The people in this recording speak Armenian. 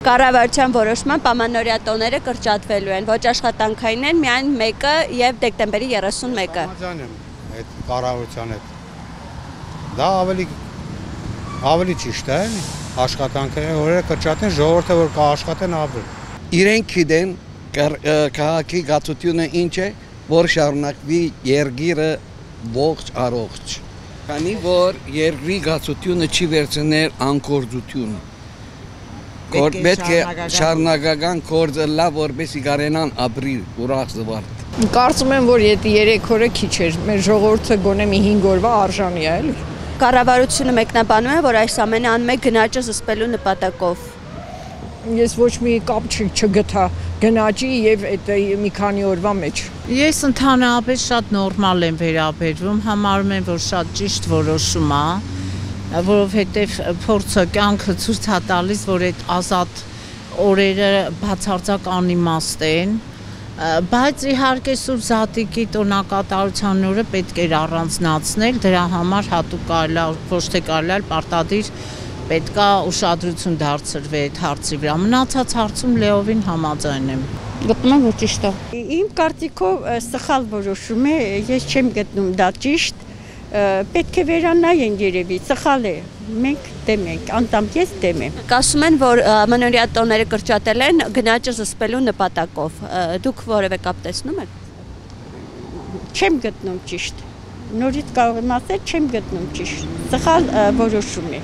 Կառավարության որոշմամբ ամանորյա տոները կրճատվելու են, ոչ աշխատանքային են, միայն մեկը եւ դեկտեմբերի 31-ը։ Համաձայն եմ այդ կառավարության հետ։ Դա ավելի ճիշտ է, աշխատանքային օրերը կրճատեն, ժողովուրդը որ կաշխատեն ապրեն։ Իրենք գիտեն քաղաքի գացությունը ինչ է, որ շարունակվի երգիրը ողջ առողջ։ Քանի որ երկրի գացությունը չի վերցնել անկորձություն։ Պետք է շարունակական գործը լավ որպեսզի կարենան ապրի ուրախ զվարթ։ Կարծում եմ, որ եթե 3 օրը քիչ էր, մեր ժողովուրդը գոնե մի 5 օրվա արժանի է, էլի։ Կառավարությունը մեկնաբանում է, որ այս ամենը անում է գնաճը զսպելու նպատակով։ Ես ոչ մի կապ չգտա գնաճի եւ այդ մի քանի օրվա մեջ։ Ես ընդհանրապես շատ նորմալ եմ վերաբերվում, համարում եմ, որ շատ ճիշտ որոշում է, որովհետեւ փորձը կյանքը ցույց է տալիս, որ այդ ազատ օրերը բացարձակ անիմաստ են, բայց իհարկե Սուրբ Զատիկի տոնակատարության օրը պետք էր առանձնացնել, դրա համար հատուկ ոչ թե կարելի է պարտադիր պետք է ուշադրություն դարձրվի այդ հարցի վրա։ Մնացած հարցում լեովին համաձայն եմ։ Գտնում եմ, որ ճիշտ է։ Իմ կարծիքով սխալ որոշում է, ես չեմ գտնում դա ճիշտ, պետք է վերանայեն երևի, սխալ է։ Մենք դեմ ենք, անտամ ես դեմ եմ։ Ասում են, որ ամանորյա տոները կրճատել են գնաճը զսպելու նպատակով։ Դուք որևէ կապ տեսնում եք։ Չեմ գտնում ճիշտ։ Նորից կարող եմ ասել, չեմ գտնում ճիշտ։ Սխալ որոշում է։